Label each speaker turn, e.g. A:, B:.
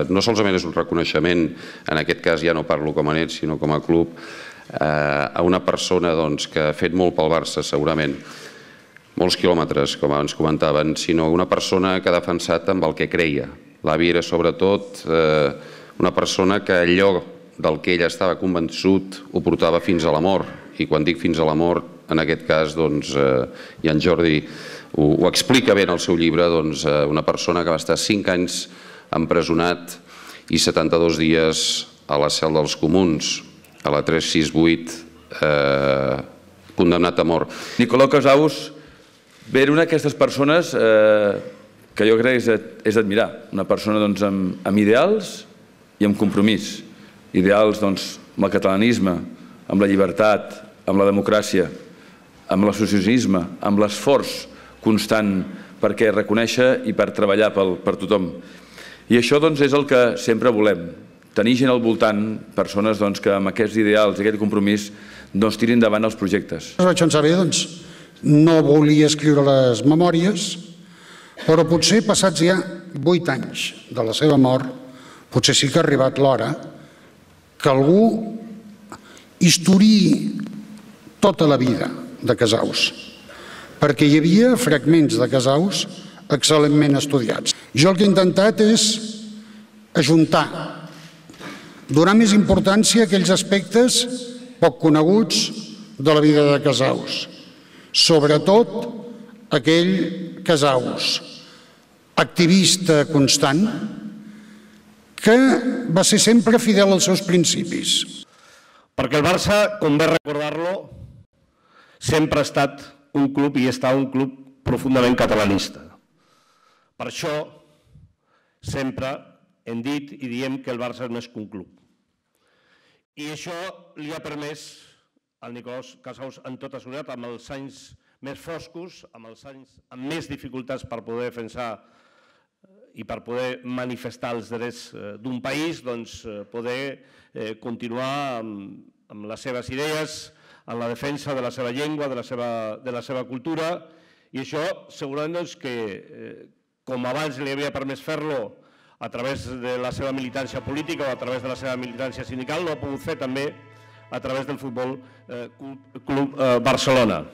A: No solament és un reconeixement, en aquest cas ja no parlo com a net, sinó com a club, a una persona que ha fet molt pel Barça, segurament, molts quilòmetres, com abans comentaven, sinó una persona que ha defensat amb el que creia. L'avi era, sobretot, una persona que allò del que ell estava convençut ho portava fins a la mort. I quan dic fins a la mort, en aquest cas, i en Jordi ho explica bé en el seu llibre, una persona que va estar 5 anys empresonat i 72 dies a la cel dels Comuns, a la 368, condemnat a mort.
B: Nicolau Casaus era una d'aquestes persones que jo crec que és d'admirar. Una persona amb ideals i amb compromís. Ideals amb el catalanisme, amb la llibertat, amb la democràcia, amb l'associacionisme, amb l'esforç constant perquè reconèixer i per treballar per tothom. I això és el que sempre volem, tenir gent al voltant, persones que amb aquests ideals i aquest compromís tirin endavant els projectes.
C: Vaig pensar bé, no volia escriure les memòries, però potser passats ja 8 anys de la seva mort, potser sí que ha arribat l'hora que algú historiï tota la vida de Casaus, perquè hi havia fragments de Casaus excel·lentment estudiats. Jo el que he intentat és ajuntar, donar més importància a aquells aspectes poc coneguts de la vida de Casaus, sobretot aquell Casaus activista constant que va ser sempre fidel als seus principis.
D: Perquè el Barça, com bé recordar-lo, sempre ha estat un club i està un club profundament catalanista. Per això sempre hem dit i diem que el Barça és més que un club. I això li ha permès al Nicolau Casaus, en tota seguretat, amb els anys més foscos, amb els anys amb més dificultats per poder defensar i per poder manifestar els drets d'un país, poder continuar amb les seves idees, en la defensa de la seva llengua, de la seva cultura, i això segurament que, com abans li havia permès fer-lo a través de la seva militància política o a través de la seva militància sindical, ho ha pogut fer també a través del Futbol Club Barcelona.